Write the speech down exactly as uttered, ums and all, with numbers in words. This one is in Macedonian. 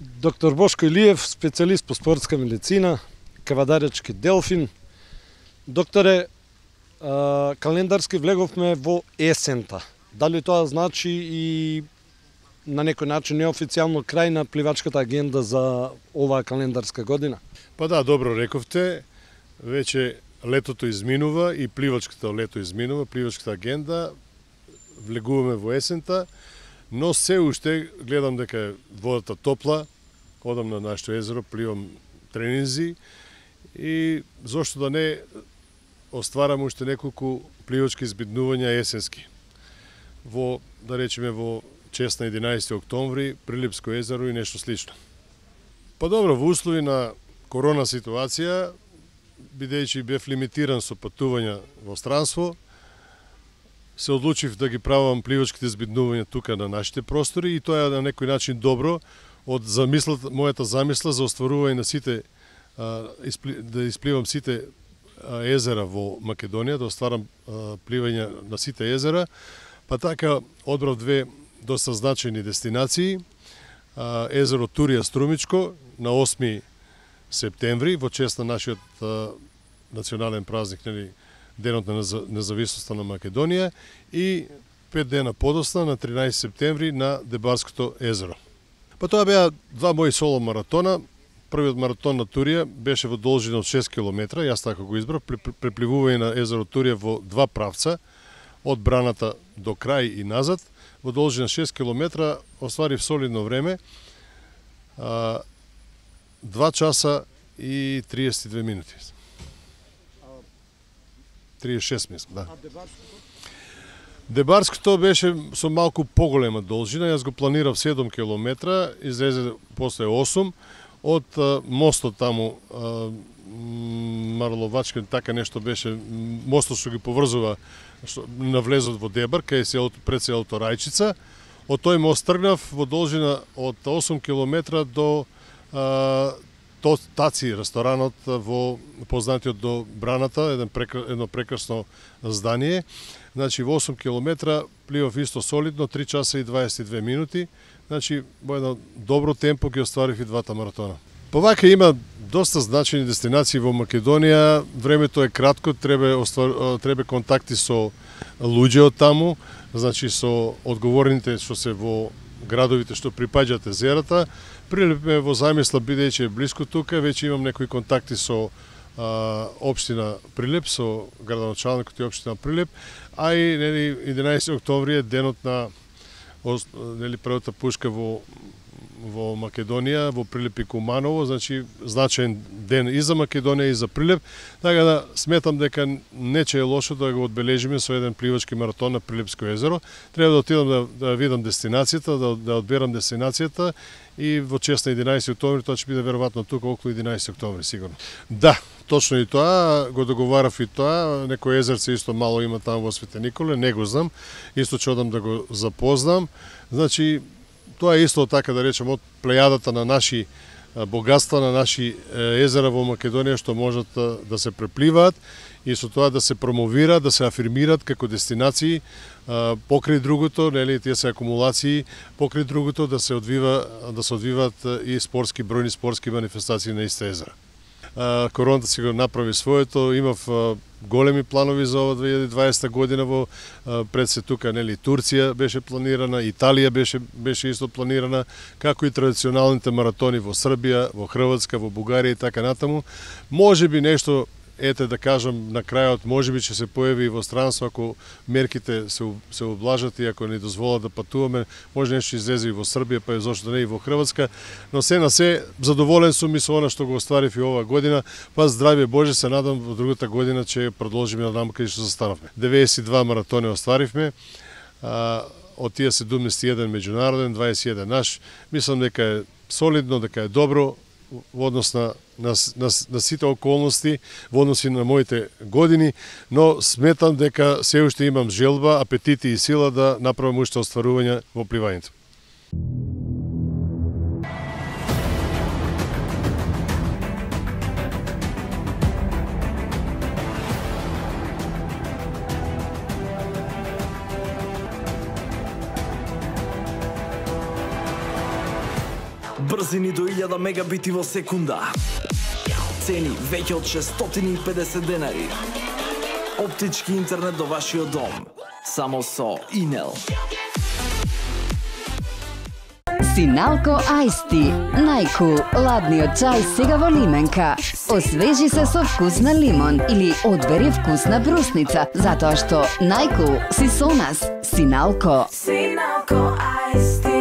Доктор Бошко Илиев, специјалист по спортска медицина, кавадаречки Делфин. Докторе, календарски влеговме во есента. Дали тоа значи и на некој начин неофицијално крај на пливачката агенда за оваа календарска година? Па да, добро рековте. Веќе летото изминува и пливачката лето изминува, пливачката агенда. Влегуваме во есента, но се уште гледам дека е водата топла, одам на нашето езеро, пливам тренинзи и зошто да не остварам уште неколку пливачки избиднувања есенски. Во, да речеме, во чест на единаесети октомври, Прилепско езеро и нешто слично. Па добро, во услови на корона ситуација, бидејќи бев лимитиран со патувања во странство, се одлучив да ги правам пливачките избиднувања тука на нашите простори и тоа е на некој начин добро од замислата, мојата замисла за остварување на сите, да испливам сите езера во Македонија, да остварам пливање на сите езера, па така одбрав две доста значајни дестинации. Езеро Турија Струмичко на осми септември во чест на нашиот национален празник, нели, Денот на независноста на Македонија, и пет дена подосна на тринаесети септември на Дебарското езеро. Па тоа беа два мои соло маратона. Првиот маратон на Турија беше во должина од шест километра, јас така го избрав, препливување на езеро Турија во два правца, од браната до крај и назад, во должина шест километра, остварив солидно време, два часа и триесет и две минути. триесет и шест мислам, да. А Дебарското? Дебарското беше со малку поголема должина, јас го планирав седум километра, излезе после осум, од мостот таму, Марловачка, така нешто беше, мостот што ги поврзува на влезот во Дебар, кај се пред селото Рајчица. Од тој мост тргнав во должина од осум километра до Таци, ресторанот во познатиот до Браната, еден прекр... едно прекрасно здание. Значи во осум километра пливав исто солидно, три часа и дваесет и две минути. Значи во едно добро темпо ги остварив и двата маратона. Повака има доста значајни дестинации во Македонија. Времето е кратко, треба оствар... треба контакти со луѓе од таму, значи со одговорните што се во градовите што припаѓаат езерата. Прилеп ме во замисла, бидејќи е блиску тука, веќе имам некои контакти со а, општина Прилеп, со градоначалникот и општина Прилеп, а и нели единаесети октомври е денот на нели првата пушка во во Македонија, во Прилеп и Куманово, значи значаен ден и за Македонија и за Прилеп, така да сметам дека нече е лошо да го одбележиме со еден пливачки маратон на Прилепско езеро. Треба да отидам да, да видам дестинацијата, да, да одберам дестинацијата и во чест на единаесети октомври, тоа ќе биде веројатно тука околу единаесети октомври сигурно. Да, точно и тоа, го договарав и тоа, некој езерце исто мало има таму во Свети Николе, не го знам, исто ќе одам да го запознам. Значи, тоа е исто така да речем од плејадата на наши богатства, на наши езера во Македонија што можат да се препливаат и со тоа да се промовираат, да се афирмираат како дестинации, покрај другото, нели, тие се акумулации, покрај другото да се одвива да се одвиваат и спортски бројни спортски манифестации на иста езера. Короната си го направи своето, имав големи планови за ова две илјади и дваесета година во пред се тука, нели, Турција беше планирана, Италија беше беше исто планирана, како и традиционалните маратони во Србија, во Хрватска, во Бугарија и така натаму. Можеби нешто, ете да кажам на крајот, можеби ќе се појави и во странство ако мерките се се облажат и ако ни дозволат да патуваме, може нешто излезе и во Србија, па и зошто не и во Хрватска, но се на се задоволен сум и со она што го остварив и оваа година, па здравје Боже, се надам во другата година ќе продолжиме да каде што застанавме. деветдесет и два маратони остваривме, а, од тие седумдесет и еден меѓународен, дваесет и еден наш. Мислам дека е солидно, дека е добро во однос на, на, на, на сите околности, во односи на моите години, но сметам дека се уште имам желба, апетити и сила да направам уште остварувања во пливањето. Брзини до илјада мегабити во секунда. Цени веќе од шестстотини и педесет денари. Оптички интернет до вашиот дом. Само со Инел. Синалко Ајсти. Најкул ладниот чај сега во лименка. Освежи се со вкус на лимон или одбери вкус на брусница, затоа што најкул си со нас. Синалко. Синалко Ајсти.